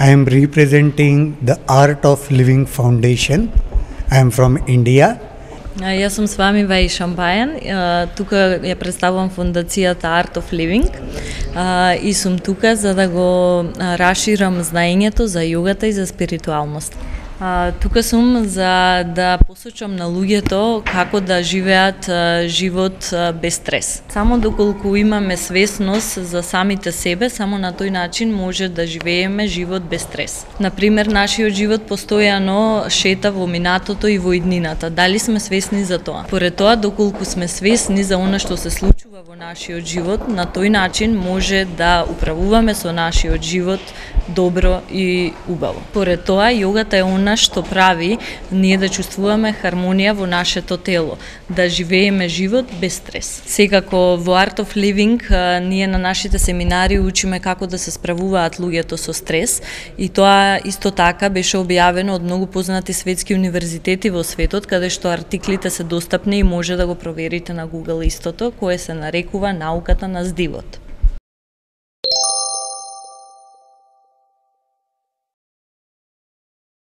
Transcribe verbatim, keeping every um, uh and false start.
I am representing the Art of Living Foundation. I am from India. Јас сум с вами Ваи Шамбајан, тука ја представувам фондацијата Art of Living и сум тука за да го расширам знаењето за јогата и за спиритуалност. Тука сум за да посочам на луѓето како да живеат живот без стрес. Само доколку имаме свесност за самите себе, само на тој начин може да живееме живот без стрес. Например, нашиот живот постојано шета во минатото и во иднината. Дали сме свесни за тоа? Поред тоа, доколку сме свесни за она што се случува во нашиот живот, на тој начин може да управуваме со нашиот живот добро и убаво. Поред тоа, јогата е она што прави ние да чувствуваме хармонија во нашето тело, да живееме живот без стрес. Секако во Art of Living ние на нашите семинари учиме како да се справуваат луѓето со стрес и тоа исто така беше објавено од многу познати светски универзитети во светот, каде што артиклите се достапни и може да го проверите на Google истото, кое се нарекува науката на здивот.